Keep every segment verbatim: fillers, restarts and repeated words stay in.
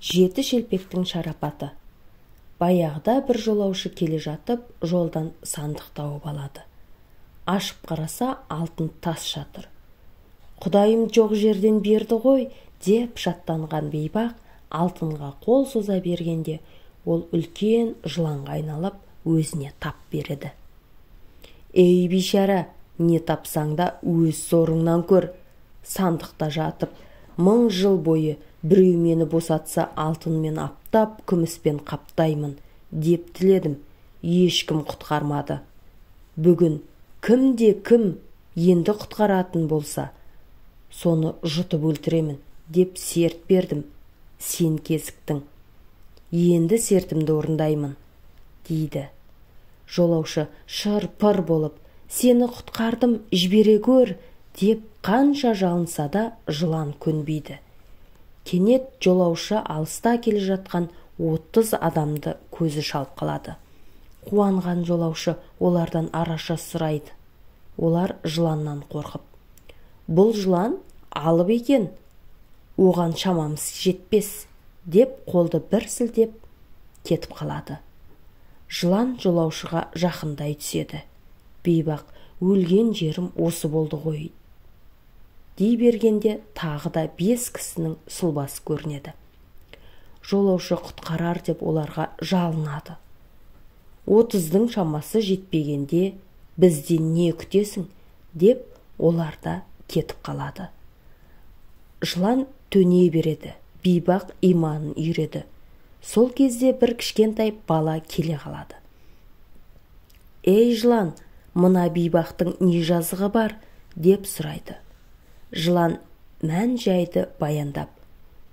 Жеті шелпектің шарапаты. Баяғыда бір жолаушы келе жатып, жолдан сандық тауып алады. Ашып қараса, алтын тас жатыр. Құдайым жоқ жерден берді ғой, деп шаттанған бейбақ алтынға қол соза бергенде, ол үлкен жыланға айналып, өзіне тап береді. Ей бейшара, не тапсаң да өз зорыңнан көр. Сандықта жатып, мың жыл бойы біреу мені босатса алтынмен аптап, күміспен қаптаймын, деп тіледім. Ешкім құтқармады. Бүгін кімде кім енді құтқаратын болса, соны жұтып өлтіремін, деп серт бердім. Сен кезіктің. Енді сертімді орындаймын, дейді. Жолаушы шыр-пыр болып, сені құтқардым, жібере көр, деп қанша жалынса да жылан көнбейді. Кенет жолаушы алыста келе жатқан отыз адамды көзі шалып қалады. Қуанған жолаушы олардан араша сұрайды. Олар жыланнан қорқып: бұл жылан алып екен, оған шамамыз жетпес, деп қолды бір сілтеп кетіп қалады. Жылан жолаушыға жақындай түседі. Бейбақ, өлген жерім осы болды ғой, дей бергенде тағы да бес кісінің сұлбасы көрінеді. Жолаушы құтқарар деп оларға жалынады. Отыздың шамасы жетпегенде бізден не күтесің, деп оларда кетіп қалады. Жылан төне береді, бейбақ иманын үйреді. Сол кезде бір кішкентай бала келе қалады. Ей жылан, мына бейбақтың не жазығы бар, деп сұрайды. Жылан мән жайды баяндап: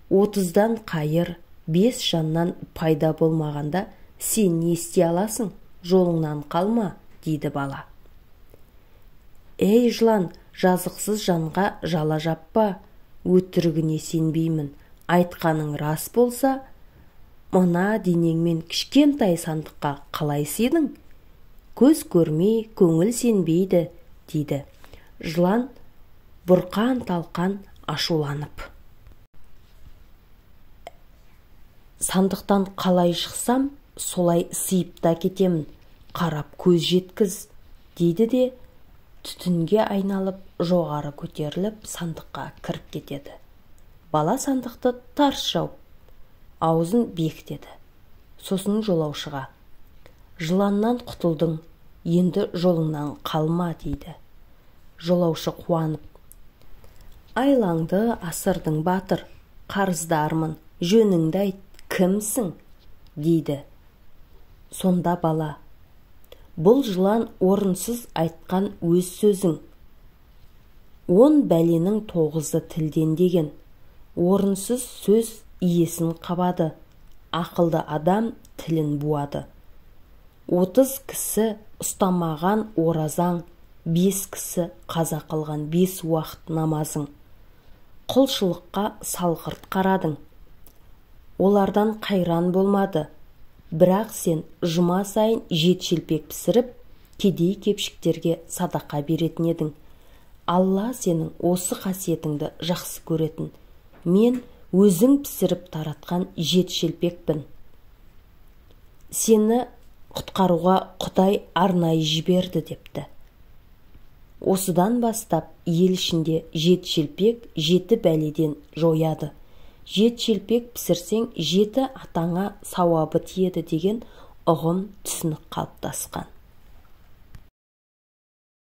отыздан қайыр, бес жаннан пайда болмағанда сен не істей аласың, жолыңнан қалма, дейді бала. Ей жылан, жазықсыз жанға жала жаппа, өтірігіне сенбеймін, айтқаның рас болса, мына денеңмен кішкентай сандыққа қалай сыйдың? Көз көрмей, көңіл сенбейді, дейді. Жылан бұрқан-талқан ашуланып: сандықтан қалай шықсам, солай сыйып та кетемін, қарап көз жеткіз, дейді де түтінге айналып, жоғары көтеріліп, сандыққа кіріп кетеді. Бала сандықты тарс жауып, аузын бекітеді. Сосын жолаушыға: жыланнан құтылдың, енді жолыңнан қалма, дейді. Жолаушы қуанып: айлаңды асырдың батыр, қарыздармын, жөніңді айт, кімсің, дейді. Сонда бала: бұл жылан орынсыз айтқан өз сөзің. Он бәленің тоғызы тілден деген. Орынсыз сөз иесін қабады, ақылды адам тілін буады. Отыз кісі ұстамаған оразаң, бес кісі қаза қылған бес уақыт намазың. Құлшылыққа салғырт қарадың. Олардан қайран болмады. Бірақ сен жұма сайын жеті шелпек пісіріп, кедей кепшіктерге садақа беретін едің. Алла сенің осы қасиетіңді жақсы көретін. Мен өзің пісіріп таратқан жеті шелпекпін. Сені құтқаруға Құдай арнайы жіберді, депті. Осыдан бастап ел ішінде жеті шелпек жеті бәледен жояды. Жеті шелпек пісірсең, жеті атаңа сауабы тиеді деген ұғым түсінік қалыптасқан.